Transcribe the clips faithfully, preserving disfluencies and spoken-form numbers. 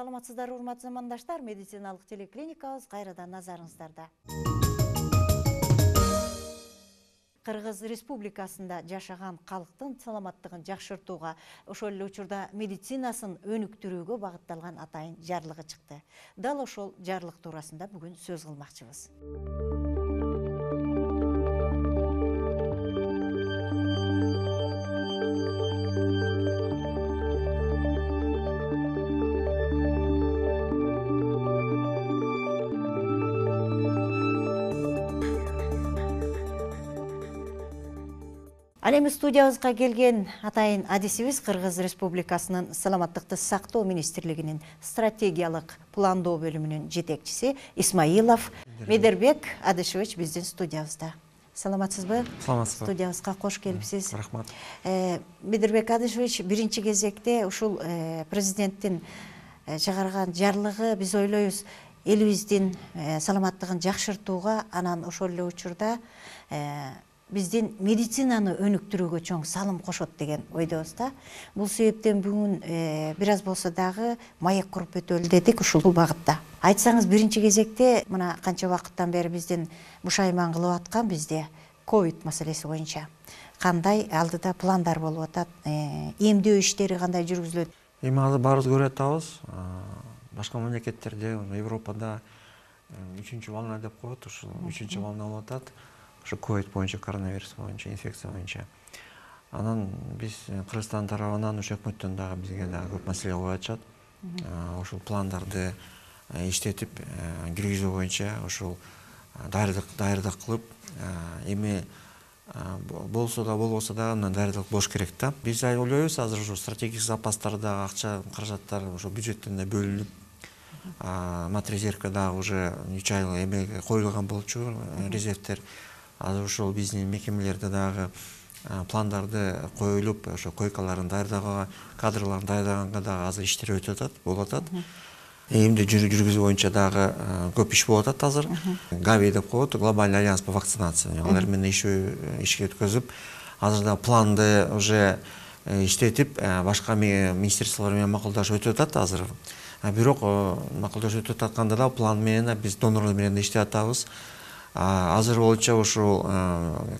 Саламатсыздар, урматтуу замандаштар, медициналык телеклиникабыз кайрадан назарыңыздарда. Кыргыз Республикасында жашаган калктын саламаттыгын жакшыртууга, ошол эле учурда медицинасын өнүктүрүүгө багытталган атайын жарлыгы чыкты. Дал ошол жарлык туурасында бүгүн сөз кылмакчыбыз. Ал эми студиябызга келген атайын адисибиз Кыргыз Республикасынын Саламаттыкты сактоо министрлигинин стратегиялык пландоо бөлүмүнүн жетекчиси Исмаилов Медербек Адышевич биздин студиябызда. Саламатсызбы? Саламатсызбы. Студиябызга кош келипсиз. Рахмат. Медербек Адышевич, биринчи кезекте ушул президенттин чыгарган жарлыгы биз ойлойбуз элибиздин саламаттыгын жакшыртууга, анан ошол эле учурда биздин медицинаны өнүктүрүүгө чоң салым кошот деген ойдобуз да. Бул себептен бүгүн бир аз болсо дагы маек куруп өтөлү дедик ушул багытта. Айтсаңыз, биринчи кезекте мына канча убакыттан бери биздин бушайман кылып аткан бизде ковид маселеси боюнча кандай алдыда пландар болуп атат, эмдөө иштери кандай жүргүзүлөт? Эми азыр баарыбыз көрүп атабыз. Башка мамлекеттерде, Европада үчүнчү волна деп коет, ушул үчүнчү волна болуп атат. Ошо ковид боюнча, коронавирус боюнча, инфекция боюнча. Анан биз Кыргызстан тарабынан ошо өкмөттөн дагы бизге дагы көп маселе коюп атышат. Ошол пландарды иштетип жүргүзүү боюнча ошол даярдык даярдык кылып, эми болсо да болбосо да андан даярдык болуш керек да. Биз ойлойбуз, азыр ошо стратегический запастарда акча каражаттар ошо бюджеттен да бөлүнүп, матрезервке дагы уже үч ай эмеге коюлган болчу резервтер. Азыр ошол биздин мекемелерде дагы пландарды коюлуп, ошо койкаларын даярдаганга, кадрларын даярдаганга дагы азыр иштер өтүп атат, болуп атат. Эмди жүргүзүү боюнча дагы көп иш болуп атат азыр. ГАВИ деп коет, глобальный альянс по вакцинации. Алар менен ишке өткөзүп, азыр да планды уже иштетип, башка министрликтер менен макулдашып өтүп атат азыр. Бирок макулдашып өтүп атканда да план менен биз донорлор менен иштеп атабыз. Азыр боюнча ушул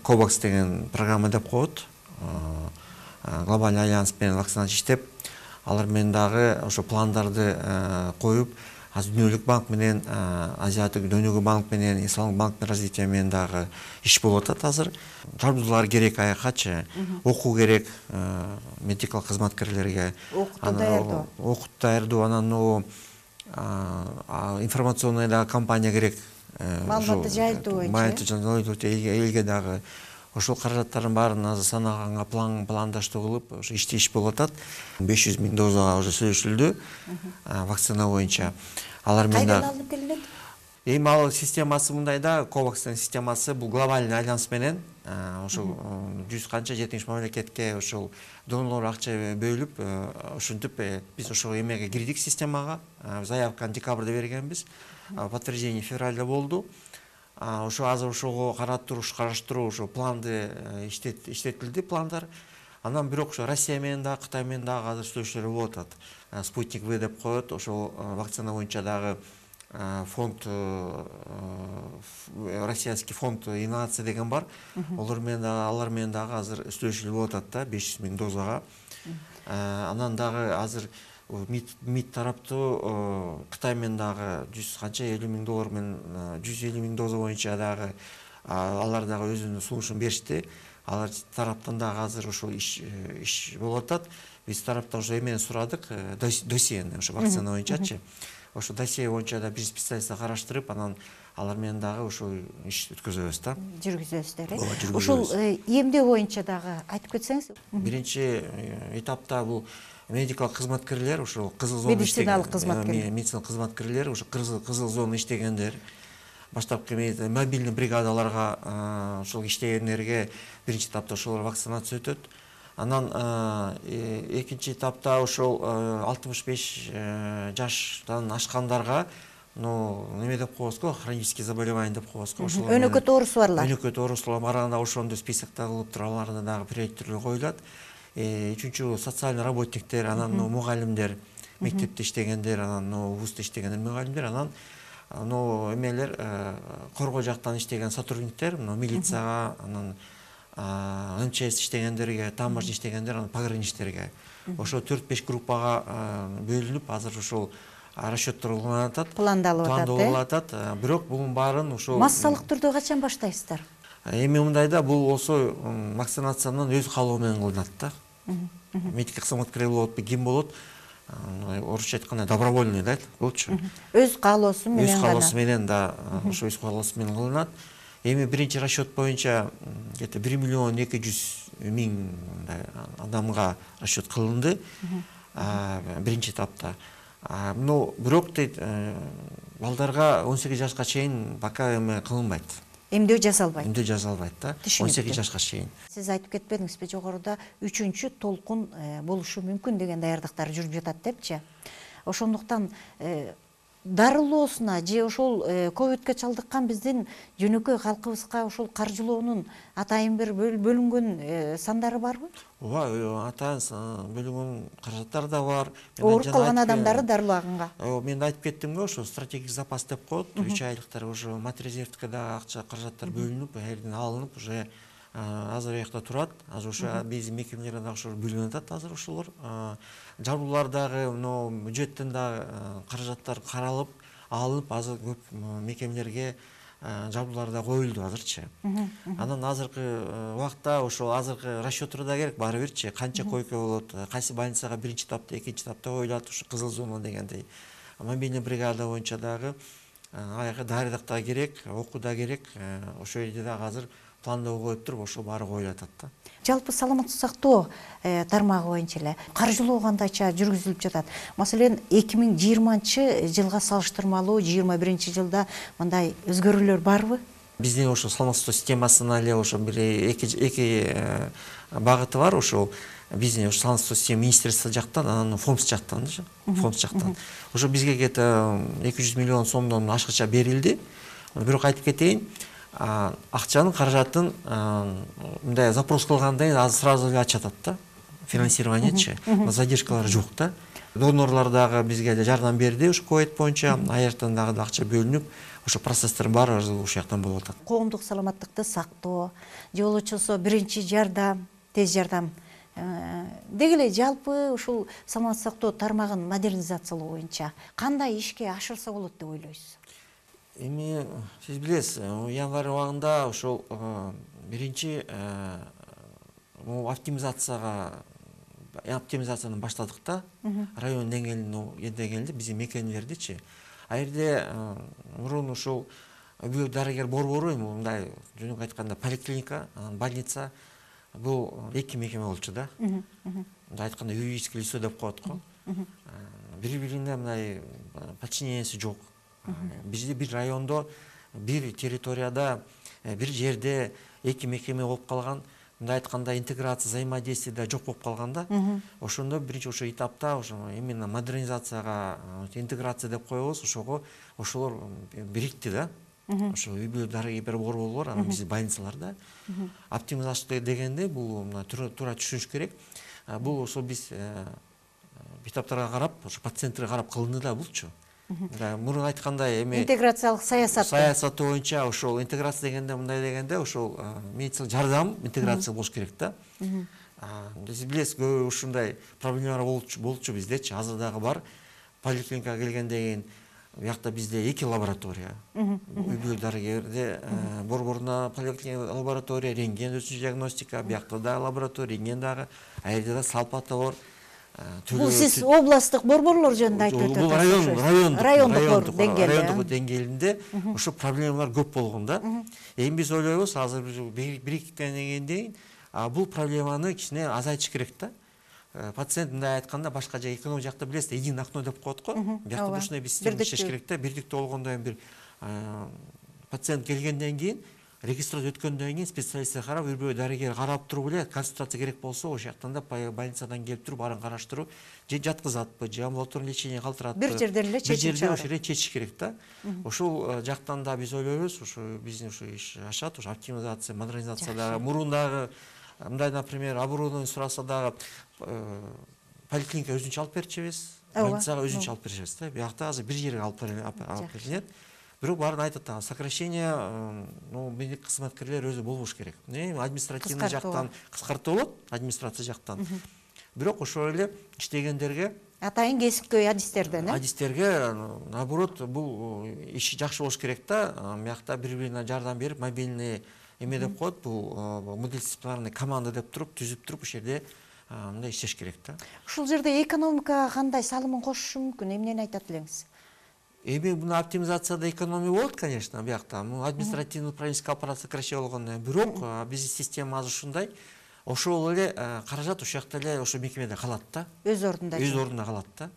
Кобакс деген программа деп коет. Глобальный альянс менен вакцинация иштеп, алар менен дагы ошо пландарды коюп, азыр Дүйнөлүк банк менен, Азиаттык дүйнөлүк банк менен, Исламдык банктын развитие менен дагы иш болуп атат азыр. Тартуулар керек аякачы, окуу керек медикалык кызматкерлерге. Окутту даярдоо. Окутту даярдоо, анан информационный дагы компания керек. Маалыматты жайылтуу боюнча элге дагы ошол каражаттардын баарын азыр санаганга пландаштоо кылып, ошо ишти иш болуп атат. беш жүз миң дозага уже сөзүлдү вакцина боюнча. Алар менен кайдан алынып келинет? Эми ал системасы мындай да, Ковакстын системасы бул глобальный альянс менен ошол жүз канча жетимиш мамлекетке ошол донорлор акча бөлүп, ушинтип биз ошол эмеге кирдик системага. Заявканы декабрда бергенбиз. Подтверждение февралда болду. Ошо азыр ошого каратуу, караштыруу, ошо планды иштетилди, пландар. Анан бирок ошо Россия менен дагы, Кытай менен дагы азыр сүйлөшүүлөр болуп атат. Спутник В деп коет, ошол вакцина боюнча дагы фонд, российский фонд инновация деген бар. Алар менен дагы, алар менен дагы азыр сүйлөшүүлөр болуп атат да, беш жүз миң дозага. Анан дагы азыр МИД тараптуу Кытай менен дагы жүз канча элүү миң доллар менен жүз элүү миң доза боюнча дагы алар дагы өзүнүн сунушун беришти. Алар тараптан дагы азыр ошол иш иш болуп атат. Биз тараптан ошо эмени сурадык, досьени, ошо вакцина боюнчачы. Ошо досье боюнча да биз специалисттер караштырып, анан алар менен дагы ошол иш өткөзөбүз да. Жүргүзөсүздөр, э? Ошол эмдөө боюнча дагы айтып кетсеңиз. Биринчи этапта бул медикалык кызматкерлер, ошол кызыл зона медициналык кызматкерлер, медициналык кызматкерлер, ошо кызыл зона иштегендер, баштапкы мобильный бригадаларга ошол иштегендерге биринчи этапта ошолор вакцинация өтөт. Анан экинчи этапта ошол алтымыш беш жаштан ашкандарга, ну, неме деп коебуз го, хронический заболевание деп коебуз го. Өнөкөт оорусу барлар. Өнөкөт оорусу барганда ошондой списокто кылып туруп, аларда дагы приоритеттүү коюлат. Үчүнчү социальный работниктер, анан мугалимдер, мектепте иштегендер, анан вузда иштегендер, мугалимдер, анан эмелер коргоо жактан иштеген сотрудниктер, милицияга, анан эм че эс иштегендерге, таможня иштегендер, анан пограничтерге. Ошо төрт беш группага бөлүнүп, азыр ошол расчеттор уланып атат, пландалып атат. Пландалып атат. Бирок бунун баарын ошол массалык түрдө качан баштайсыздар? Эми мындайда бул болсо вакцинациянын өз каалоо менен кылынат да. Медиктик кызматкер болот, ким болот? Орусча айтканда добровольный да, болчу. Өз каалоосу менен Өз каалоосу менен да, ошо өз каалоосу менен кылынат. Эми биринчи расчет боюнча где-то бир миллион эки жүз миң адамга расчет кылынды биринчи этапта. Но бирок дейт, балдарга он сегиз жашка чейин пока эме кылынбайт. Эмдөө жасалбайт. Эмдөө жасалбайт да. он сегиз жашка чейин. Сиз айтып кетпедиңизби, жогоруда үчүнчү толкун болушу мүмкүн деген даярдыктар жүрүп жатат депчи. Ошондуктан дарылоосуна же ошол ковидке чалдыккан биздин жөнөкөй калкыбызга ошол каржылоонун атайын бир бөлүнгөн сандары барбы? Ооба, атайын бөлүнгөн каражаттар да бар. Ооруп калган адамдарды дарылаганга. Мен айтып кеттим го, ошо стратегик запас деп коет. үч айлыктар уже матрезервтке да акча каражаттар бөлүнүп, элден алынып, уже азыр уякта турат. Азыр ошо биздин мекемелерде дагы ошо бөлүнүп атат азыр ошолор. Жабуулар дагы, мына бюджеттен дагы каражаттар каралып, алынып, азыр көп мекемелерге жабуулар да коюлду азырчы. Анан азыркы убакта ошол азыркы расчеттор да керек баары бирчи, канча койка болот, кайсы больницага биринчи этапта, экинчи этапта коюлат, ушу кызыл зона дегендей. Мобильный бригада боюнча дагы аяка дары да керек, окуу да керек. Ошол жерде дагы азыр пландоо коюп туруп, ошол баары коюлуп атат да. Жалпы саламаттык сактоо тармагы боюнча эле каржылоо кандайча жүргүзүлүп жатат? Маселен, эки миң жыйырманчы жылга салыштырмалуу жыйырма биринчи жылда мындай өзгөрүүлөр барбы? Биздин ошо саламаттык системасына эле ошо бир эки багыты бар. Ошол биздин ошо саламаттык система министерство жактан, анан фонд жактан, фонд жактан. Ошо бизге где-то эки жүз миллион сомдон ашкыча берилди. Бирок айтып кетейин, акчанын каражатын мындай запрос кылгандан кийин азыр сразу эле ачат да, финансированиечи, задержкалар жок да. Донорлор дагы бизге жардам берди ушу ковид боюнча, аяктан дагы акча бөлүнүп, ошо процесстер баары ушул жактан болуп атат. Коомдук саламаттыкты сактоо, же болбосо биринчи жардам, тез жардам деги эле жалпы ушул саламаттык сактоо тармагын модернизациялоо боюнча кандай ишке ашырса болот деп ойлойсуз? Эми сиз билесиз, январь убагында ошол биринчи оптимизацияга оптимизацияны баштадык да, район деңгээлинде биздин мекемелердичи. А жерде мурун ушул үй дарыгер борбору, мындай жөнөкөй айтканда поликлиника, больница, бул эки мекеме болчу да. Мындай айтканда юридическое лицо деп коет го. Бири-бирине мындай подчиненияси жок. Бизде бир райондо, бир территорияда, бир жерде эки мекеме болуп калган. Мындай айтканда интеграция, взаимодействие да жок болуп калганда, ошондо биринчи ошо этапта ошо именно модернизацияга интеграция деп коебуз, ошого ошолор бирикти да. Ошо үй дарыгер борборлор, анан биздин больницаларда оптимизация дегенде бул туура түшүнүш керек. Бул ошо биз этаптарга карап, ошо пациенттерге карап кылынды да булчу. Мурун айткандай эми интеграциялык саясат саясаты боюнча ошол интеграция дегенде мындай дегенде ошол медициналык жардам интеграция болуш керек да. Сиз билесиз, көп ушундай проблемалар болчу биздечи, азыр дагы бар. Поликлиникага келгенден кийин биякта бизде эки лаборатория. Үй бүлө дарыгерде борборуна поликлиника лаборатория, рентген өсүш диагностика, биякта да лаборатория, рентген дагы, а жерде да салпаты бар. Бул сиз областтык борборлор жөнүндө айтып жатасыз. Бул район, райондук райондук деңгээлинде ошо проблемалар көп болгон да. Эми биз ойлойбуз, азыр бириккенден кийин бул проблеманы кичине азайтыш керек да. Пациент мындай айтканда башка жай эконом жакта билесиз, единое окно деп коет го. Биякта ушундай бир система иштеш керек да. Бирдиктүү болгондон кийин бир пациент келгенден кийин, регистрация өткөндөн кийин специалисттер карап, үй бүлө дарыгер карап туруп эле консультация керек болсо, ошол жактан да больницадан келип туруп арын караштыруу, же жаткызатпы, же амбулаторный лечение калтыратпы. Бир жерден эле чечип чыгарат. Бир жерде ошо чечиш керек да. Ошол жактан да биз ойлойбуз, ошо биздин ошо иш ашат, ошо оптимизация, модернизация дагы. Мурун дагы мындай, например, оборудование сураса дагы поликлиника өзүнчө алып берчүбүз. больницага өзүнчө алып беришебиз да. Биякта азыр бир жерге алып берилет. Бирок баарын айтат, сокращение, ну, медик кызматкерлер өзү болбош керек. Административный жактан кыскартуу болот, администрация жактан. Бирок ошол эле иштегендерге, атайын кесипкөй адистерден, э? Адистерге, наоборот, бул иши жакшы болуш керек да. Биякта бири-бирине жардам берип, мобильный эме деп коет, бул мультидисциплинарный команда деп туруп, түзүп туруп, ошол жерде мындай иштеш керек да. Ушул жерде экономикага кандай салымын кошушу мүмкүн? Эмнени айтат элеңиз? Эми мына оптимизацияда экономия болот, конечно, биякта. Административный управленческий аппарат сокращение болгондон, бирок биздин система азыр ушундай. Ошол эле каражат ошол жакта эле ошо мекемеде калат да. Өз ордунда. Өз ордунда калат да.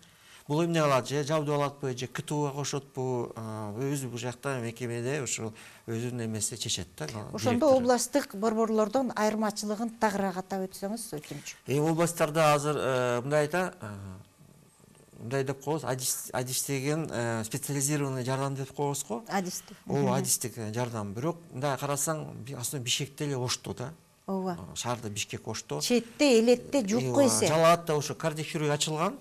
Бул эмне кылат? Же жабдып алатпы, же КТУга кошотпу, өзү бул жакта мекемеде ошо өзүнүн эмеси чечет да. Ошондо областтык борборлордон айырмачылыгын тагыраак атап өтсөңүз өтүнчү. Эми областтарда азыр мындай да, мындай деп коебуз, адистеген специализированный жардам деп коебуз го. Адистик. Ооба, адистик жардам. Бирок мындай карасаң, основном Бишкекте эле ошто да. Ооба. Шаарда Бишкек ошто. Четте, элетте жок эсе. Жалаатта ошо кардиохирургия ачылган.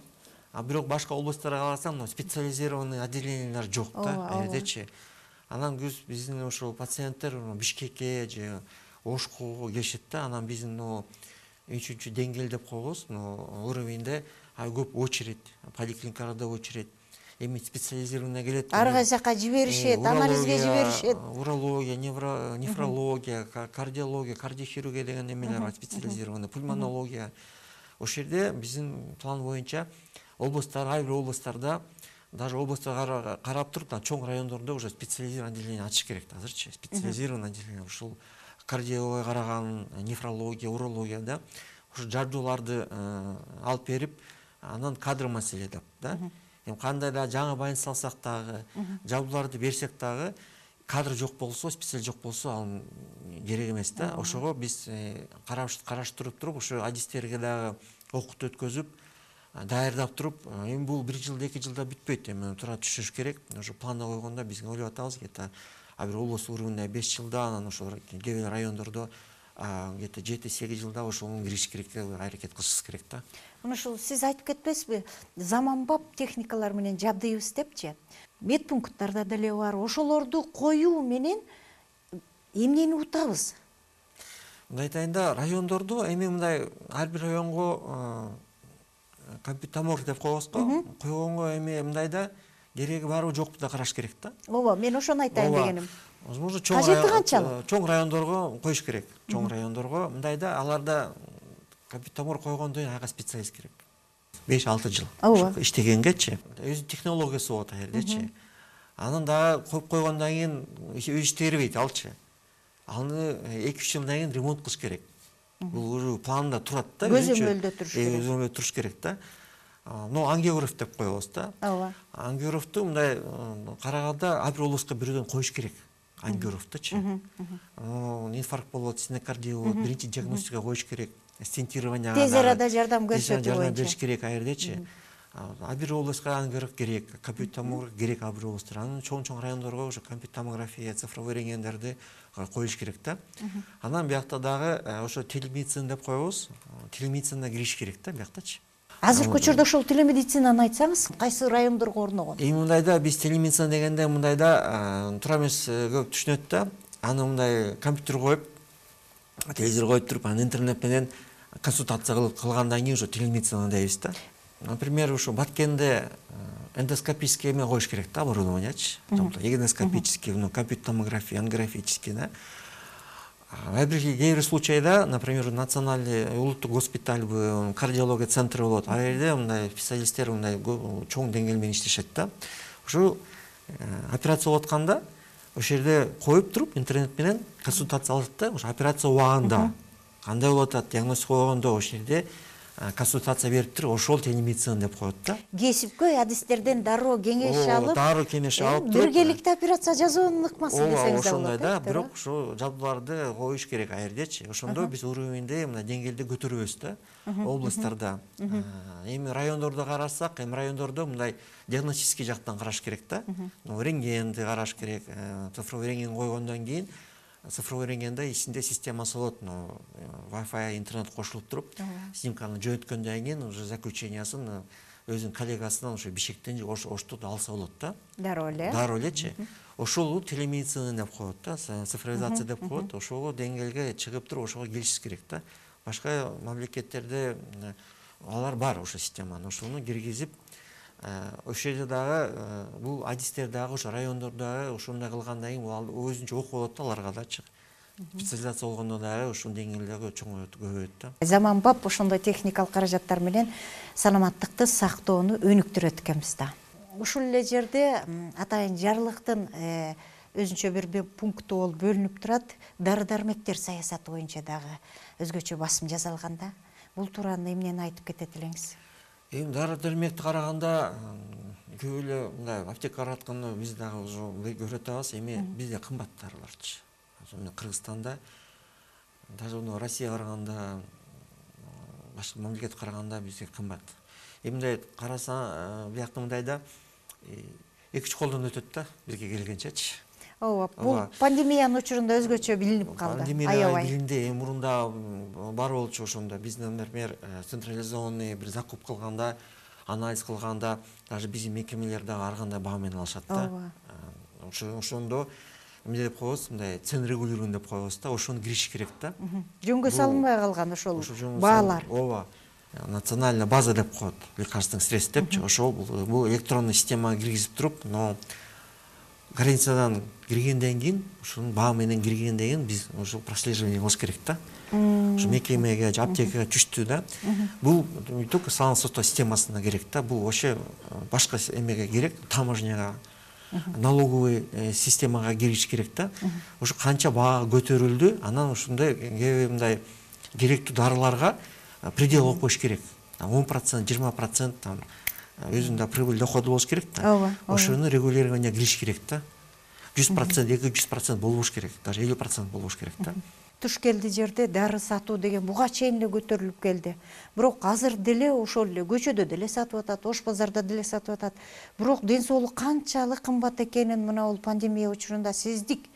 А бирок башка областтарга карасаң, специализированный отделениялар жок да, элдечи. Анан көз биздин ошол пациенттер Бишкекке же Ошкого келишет да. Анан биздин үчүнчү деңгээл деп коебуз, уровеньде көп очередь, поликлиникаларда очередь. Эми специализированный келет. Ар кайсака жиберишет, анализге жиберишет. Урология, нефрология, кардиология, кардиохирургия деген эмелер бар, специализированный, пульмонология. Ошол жерде биздин план боюнча областтар, ар бир областтарда, даже областта карап туруп, чоң райондордо уже специализированный отделение ачыш керек азырчы. Специализированный отделение ушул кардиология караган, нефрология, урология да. Ошо жардууларды алып берип, анан кадр маселе деп да. Эми кандай да жаңы больница алсак дагы, жабдууларды берсек дагы, кадр жок болсо, специалист жок болсо, ал керек эмес да. Ошого биз караштырып туруп, ошо адистерге дагы окутуу өткөзүп, даярдап туруп, эми бул бир жылда, эки жылда бүтпөйт, эми тура түшүш керек. Ошо планда койгондо биз ойлоп атабыз, где-то бир област уровенде беш жылда, анан ошо кээ бир райондордо где-то жети сегиз жылда ошого кириш керек деп аракет кылышыбыз керек да. Мына ушул сиз айтып кетпесизби? Заманбап техникалар менен жабдыйбыз депчи. Медпункттарда деле бар. Ошолорду коюу менен эмнени утабыз? Мындай айтайын да, райондордо эми мындай ар бир районго компьютер томограф деп коебуз го. Койгонго эми мындай да кереги барбы жокпу да караш керек да. Ооба, мен ошону айтайын дегеним. Возможно, чоң райондорго коюш керек. Чоң райондорго мындай да, аларда компьютер томограф койгондон кийин ага специалист керек. беш алты жыл иштегенгечи. Өз технологиясы болот ал жердечи. Анан дагы коюп койгондон кийин өзү иштей бербейт алчы. Аны эки үч жылдан кийин ремонт кылыш керек. Бул уже планда турат да. Көзөмөлдө туруш керек. Көзөмөлдө туруш керек да. Но ангиограф деп коебуз да. Ооба. Ангиографту мындай караганда ар бир областка бирөөдөн коюш керек. Ангиографтычы. Инфаркт болот, стенокардия болот, биринчи диагностика коюш керек. Стентирование. Тез арада жардам көрсөтүү боюнча. Жардам бериш керек ал жердечи. Ар бир областка ангиограф керек, компьютер томограф керек ар бир областта. Анан чоң-чоң райондорго ошо компьютер томография, цифровой рентгендерди коюш керек да. Анан биякта дагы ошо телемедицина деп коебуз. Телемедицинага кириш керек да бияктачы. Азыркы учурда ошол телемедицинаны айтсаңыз, кайсы райондорго орногон? Эми мындайда биз телемедицина дегенде мындайда туура эмес көп түшүнөт да. Аны мындай компьютер коюп, телевизор коюп туруп, анан интернет менен консультация кылгандан кийин ошо телемедицина дейбиз да. Например, ошо Баткенде эндоскопический эме коюш керек да, оборудованиячы. Эндоскопический, компьютер томография, ангиографический да. Ар бир кээ бир случайда, например, национальный улуттук госпиталь, кардиология центры болот. Ал жерде мындай специалисттер мындай чоң деңгээл менен иштешет да. Ошо операция болуп атканда, ошол жерде коюп туруп, интернет менен консультация алат да. Ошо операция убагында кандай болуп атат, диагностика болгондо ошол жерде консультация берип туруп, ошол телемедицина деп коет да. Кесипкөй адистерден дароо кеңеш алып, дароо кеңеш алып, биргеликте операция жасоонун ыкмасы десеңиз болот. Ошондой да, бирок ошо жабдууларды коюш керек ал жердечи. Ошондо биз уровеньде мына деңгээлди көтөрөбүз да, областтарда. Эми райондордо карасак, эми райондордо мындай диагностический жактан караш керек да. Рентгенди караш керек, цифровой рентген койгондон кийин цифровой рентгенде ичинде системасы болот, Wi-Fi интернет кошулуп туруп, снимканы жөнөткөндөн кийин уже заключениясын өзүнүн коллегасынан ошо Бишкектен ошту алса болот да. Дароо эле. Дароо элечи. Ошол телемедицина деп коет да, цифровизация деп коет. Ошого деңгээлге чыгып туруп ошого келишибиз керек да. Башка мамлекеттерде алар бар ошо системаны. Ошону киргизип, ошол жерде дагы бул адистер дагы ошо райондордогу ошондой кылгандан кийин бул өзүнчө окуу болот да аларга дачы. Специализация болгондо дагы ушул деңгээлдеги чоңойот, көбөйөт да. Заманбап ошондой техникалык каражаттар менен саламаттыкты сактоону өнүктүрөт экенбиз да. Ушул эле жерде атайын жарлыктын өзүнчө бир пункту болуп бөлүнүп турат. Дары-дармектер саясаты боюнча дагы өзгөчө басым жасалган да. Бул тууралуу эмнени айтып кетет элеңиз? Эми дары-дармекти караганда көп эле мындай аптекалар атканда биз дагы уже көрүп атабыз. Эми бизде кымбат дарыларчы. Кыргызстанда, даже Россияга караганда, башка мамлекетке караганда бизге кымбат. Эми мындай караса, биякта мындай да эки үч колдон өтөт да бизге келгенчечи. Ооба, бул пандемиянын учурунда өзгөчө билинип калды. Пандемия билинди, эми мурунда бар болчу ошондо. Биз, например, централизованный бир закуп кылганда, анализ кылганда, даже биздин мекемелер дагы ар кандай баа менен алышат да. Ошондо эмне деп коебуз, мындай цен регулирование деп коебуз да, ошону кириш керек да. Жөнгө салынбай калган ошол баалар. Ооба. Национальная база деп коет, лекарственных средств депчи. Ошол бул электронный системага киргизип туруп, но границадан киргенден кийин, ушунун баа менен киргенден кийин биз ошол прослеживание кылыш керек да. Ошо мекемеге, аптекага түштү да. Бул не только салым сотоо системасына керек да, бул вообще башка эмеге керек, таможняга, налоговый системага кириш керек да. Ошо канча баа көтөрүлдү, анан ушундай кээ мындай керектүү дарыларга предел коюп коюш керек. он процент, жыйырма процент там өзүндө прибыль доходу болуш керек да. Ошону регулированиеге кириш керек да. жүз процент, эки жүз процент болбош керек, даже элүү процент болбош керек да. Туш келди жерде дары сатуу деген буга чейин эле көтөрүлүп келди. Бирок азыр деле ошол эле көчөдө деле сатып атат, ош базарда деле сатып атат. Бирок ден соолук канчалык кымбат экенин мына бул пандемия учурунда сездик.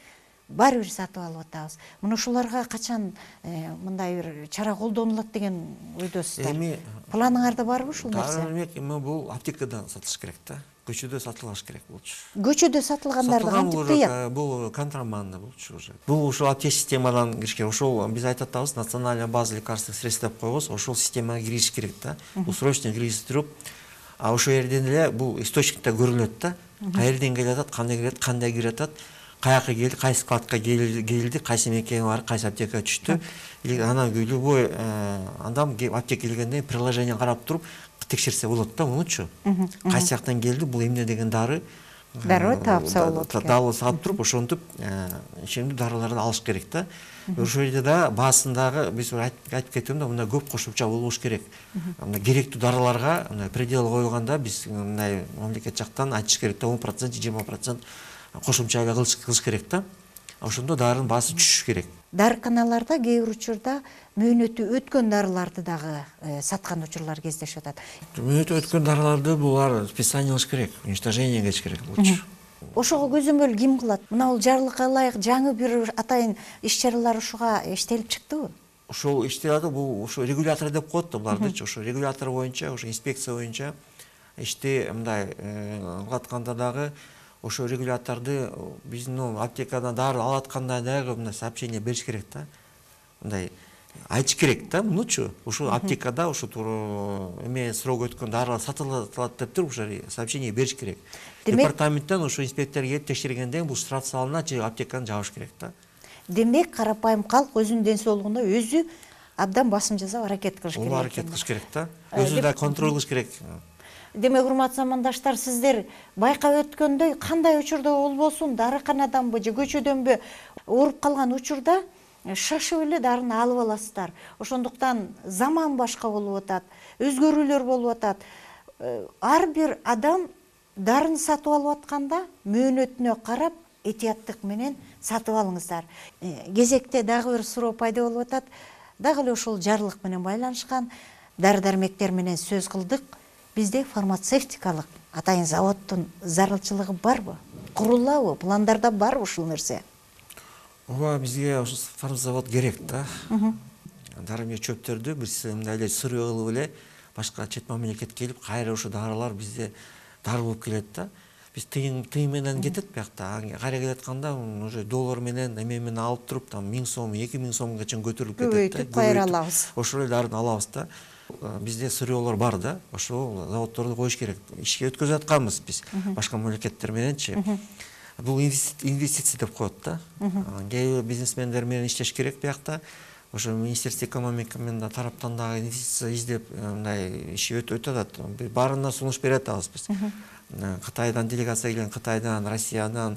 Баары бир сатып алып атабыз. Мына ушуларга качан мындай бир чара колдонулат деген ойдосуздар? Эми планыңарда барбы ушул нерсе? Демек, эми бул аптекадан сатылыш керек да. Көчөдө сатылыш керек болчу. Көчөдө сатылгандарды кантип тыят? Бул контрабанда болчу уже. Бул ушул аптека системадан кириш керек. Ошол биз айтып атабыз, национальная база лекарственных средств деп коебуз, ошол системага кириш керек да. Бул срочно киргизип туруп, а ошол жерден эле бул источникте көрүнөт да. Каерден келип атат, кандай кирет, кандай кирип атат, каяка келди, кайсы складка келди, кайсы мекеме бар, кайсы аптекага түштү. Анан любой адам аптека келгенде приложение карап туруп текшерсе болот да, мунучу. Кайсы жактан келди, бул эмне деген дары? Дароо таапса болот. Далы сатып туруп, ошентип ишемдүү дарыларды алыш керек да. Ошол жерде да баасындагы биз айтып кетем да, мындай көп кошумча болбош керек. Мындай керектүү дарыларга мындай предел коюлганда биз мындай мамлекет жактан айтыш керек да, он процент, жыйырма процент кошумча кылыш керек да. Ошондо дарынын баасы түшүш керек. Дарыканаларда кээ бир учурда мөөнөтү өткөн дарыларды дагы саткан учурлар кездешип атат. Мөөнөтү өткөн дарыларды булар списание кылыш керек, уничтожение кетиш керек болчу. Ошого көзөмөл ким кылат? Мына бул жарлыкка ылайык жаңы бир атайын иш-чаралар ушуга иштелип чыктыбы? Ошол иштелет, бул ошо регулятор деп коет да булардычы. Ошо регулятор боюнча, ошо инспекция боюнча ишти мындай кылатканда дагы ошо регуляторду биздин аптекадан дары алып атканда дагы мындай сообщение бериш керек да. Мындай айтыш керек да, мунучу. Ошо аптекада ошо туура эме срок өткөн дарылар сатылат деп туруп ошо сообщение бериш керек. Департаменттен ошо инспектор келип текшергенден бул штраф салынат же аптеканы жабыш керек да. Демек, карапайым калк өзүнүн ден соолугуна өзү абдан басым жасап аракет кылыш керек. Ооба, аракет кылыш керек да. Өзү да контроль кылыш керек. Демек, урматтуу замандаштар, сиздер байкап өткөндөй кандай учурда болбосун, дарыканаданбы же көчөдөнбү ооруп калган учурда шашып эле дарыны алып аласыздар. Ошондуктан заман башка болуп атат, өзгөрүүлөр болуп атат. Ар бир адам дарыны сатып алып атканда мөөнөтүнө карап этияттык менен сатып алыңыздар. Кезекте дагы бир суроо пайда болуп атат. Дагы эле ушул жарлык менен байланышкан дары-дармектер менен сөз кылдык. Бизде фармацевтикалык атайын заводдун зарылчылыгы барбы? Курулабы? Пландарда барбы ушул нерсе? Ооба, бизге ошол фармзавод керек да. Дары-дармек чөптөрдү биз мындай эле сыруу кылып эле башка чет мамлекетке келип кайра ошо дарылар бизде дары болуп келет да. Биз тыйын тыйын менен кетет биякта. Кайра келатканда уже доллар менен эме менен алып туруп там миң сом, эки миң сомго чейин көтөрүлүп кетет да. Көбөйтүп кайра алабыз. Ошол эле дарыны алабыз да. Бизде сырьёлор бар да. Ошол заводдорду коюш керек. Ишке өткөзүп атканбыз биз башка мамлекеттер мененчи. Бул инвестиция деп коет да. Кээ бир бизнесмендер менен иштеш керек биякта. Ошо Министерство экономика менен тараптан дагы инвестиция издеп, мындай иш өтүп атат. Баарына сунуш бере атабыз биз. Кытайдан делегация келген, Кытайдан, Россиядан,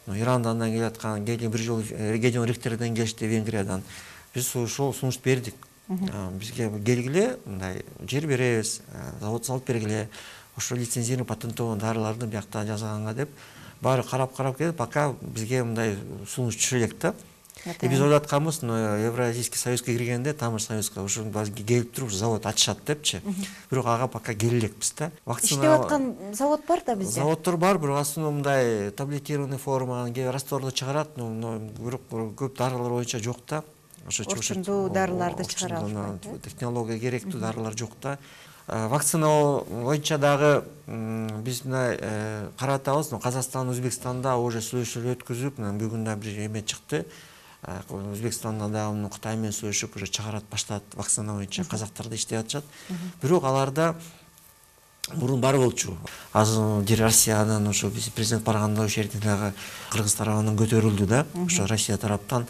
Ирандан келе аткан, келген бир жолу регион ректордон келишти, Венгриядан. Биз ошол сунуш бердик. Бизге келгиле, мындай жер беребиз, завод салып бергиле. Ошо лицензирован патенттоон дарыларды биякта жасаганга деп баары карап-карап келип, пока бизге мындай сунуш түшө элек да. И биз ойлоп атканбыз, Евразийский союзга киргенде, тамыр союзга ошо бизге келип туруп завод ачышат депчи. Бирок ага пока келе элекпиз да. Иштеп аткан завод бар да бизде. Заводдор бар, бирок основном мындай таблетированный форма, растворду чыгарат, но бирок көп дарылар боюнча жок да. Ошо орчундуу дарыларды чыгара алышпайт. Технология керектүү дарылар жок да. Вакцина боюнча дагы биз мына карап атабыз, Казакстан, Өзбекстанда уже сүйлөшүүлөр өткүзүп, бүгүн да бир эме чыкты. Өзбекстанда дагы Кытай менен сүйлөшүп уже чыгарат баштат вакцина боюнча, казактарды иштеп атышат. Бирок аларда мурун бар болчу. Азыр Россиядан ошо биз президент барганда ошол жерде дагы Кыргыз тарабынан көтөрүлдү да. Ошо Россия тараптан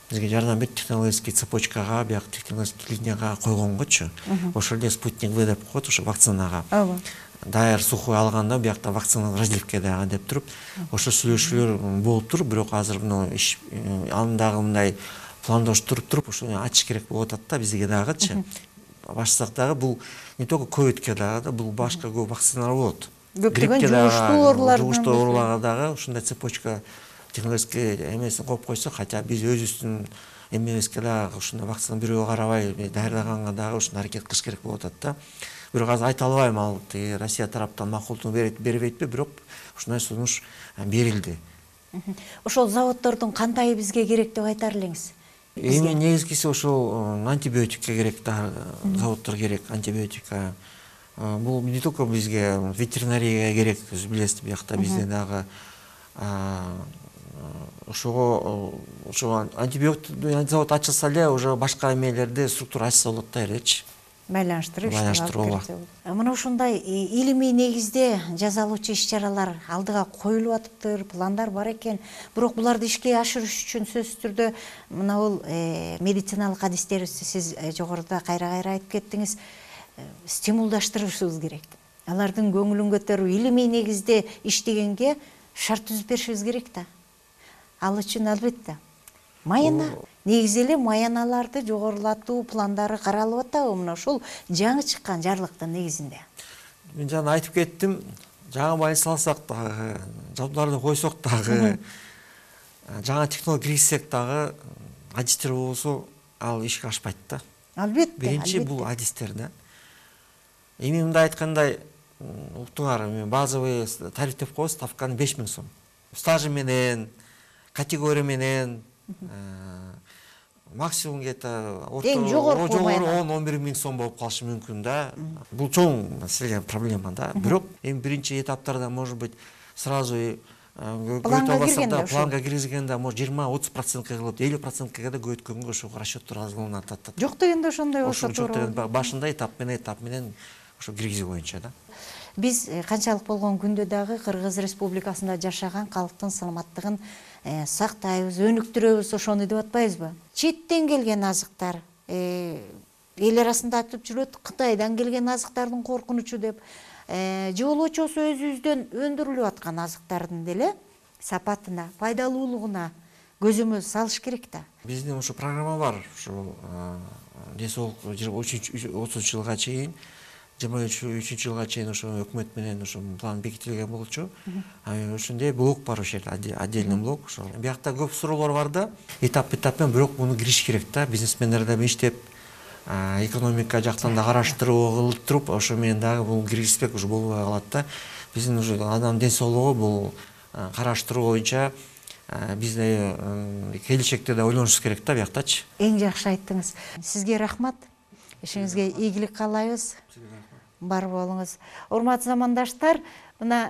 бизге жардам берип технологический цепочкага, бияк технологический линияга койгонгочу. Ошол эле спутник В деп коет ошо вакцинага. Ооба. Даяр сухой алганда биякта вакцина разливке дагы деп туруп, ошо сүйлөшүүлөр болуп туруп, бирок азыр мына иш андагы мындай пландоштуруп туруп, ошону ачыш керек болуп атат да бизге дагычы. Башсак дагы бул не только ковидке дагы да, бул башка көп вакциналар болот. Көптөгөн жугуштуу оорулар, жугуштуу ооруларга дагы ушундай цепочка технологический эмесин коюп койсо, хотя биз өзүбүздүн эмебизге дагы ушундай вакцина бирөө карабай даярдаганга дагы ушундай аракет кылыш керек болуп атат да. Бирок азыр айта албайм, ал Россия тараптан макулдук бербейт, бирок ушундай сунуш берилди. Ошол заводдордун кантайы бизге керек деп айтар элеңиз? Эми негизгиси ошол антибиотикке керек да, заводдор керек, антибиотика. Бул не только бизге ветеринарияга керек, сиз билесиз, биякта бизде дагы ошого ошо антибиотик завод ачылса эле уже башка эмелерди структура ачса болот да элечи. Байланыштырып иштеп. Мына ушундай илимий негизде жазалуучу иш-чаралар алдыга коюлуп атыптыр, пландар бар экен. Бирок буларды ишке ашырыш үчүн сөзсүз түрдө мына бул медициналык адистерибизди сиз жогоруда кайра-кайра айтып кеттиңиз, стимулдаштырышыбыз керек. Алардын көңүлүн көтөрүү, илимий негизде иштегенге шарт түзүп беришибиз керек да. Ал үчүн албетте майына, негизи эле майаналарды жогорулатуу пландары каралып атабы мына ушул жаңы чыккан жарлыктын негизинде? Мен жана айтып кеттим, жаңы майын салсак дагы, жабдууларды койсок дагы, жаңы технология киргизсек дагы, адистер болсо ал ишке ашпайт да. Албетте. Биринчи бул адистер да. Эми мындай айткандай, уктуңар, базовый тариф деп коебуз, ставканы беш миң сом. Стажы менен, категория менен, максимум где-то эң жогорку он он бир миң сом болуп калышы мүмкүн да. Бул чоң маселе, проблема да. Бирок эми биринчи этаптарда может быть сразу планга киргизгенде может жыйырма отуз процентке кылып, элүү процентке да көбөйткөнгө ошого расчеттор азгаланып атат. Жок дегенде ошондой болсо туура. Башында этап менен этап менен ошо киргизүү боюнча да. Биз канчалык болгон күндө дагы Кыргыз Республикасында жашаган калктын саламаттыгын сактайбыз, өнүктүрөбүз, ошону деп атпайбызбы? Четтен келген азыктар, эл арасында айтып жүрөт, Кытайдан келген азыктардын коркунучу деп, же болбочосу өзүбүздөн өндүрүлүп аткан азыктардын деле сапатына, пайдалуулугуна көзөмөл салыш керек да. Биздин ошо программа бар, ошо ден соолук отузунчу жылга чейин, жыйырма үчүнчү жылга чейин ошо өкмөт менен ошо план бекитилген болчу. Ошондой блок бар ошол жерде, отдельный блок. Ошол биякта көп суроолор бар да. Этап-этап менен бирок муну кириш керек да. Бизнесмендер да иштеп, экономика жактан да караштыруу кылып туруп, ошо менен дагы бул киргизбек уже болбой калат да. Биздин уже адам ден соолугу бул караштыруу боюнча бизде келечекте да ойлонушубуз керек да бияктачы. Эң жакшы айттыңыз. Сизге рахмат. Ишиңизге ийгилик каалайбыз. бар болуңуз. Урматтуу замандаштар, мына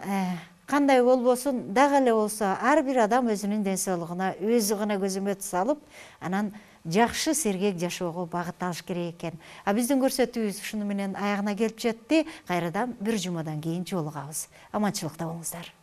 кандай болбосун, дагы эле болсо ар бир адам өзүнүн ден соолугуна өзү гана көзөмөт салып, анан жакшы сергек жашоого багыт алыш керек экен. А биздин көрсөтүүбүз ушуну менен аягына келип жетти. Кайрадан бир жумадан кийин жолугабыз. Аманчылыкта болуңуздар.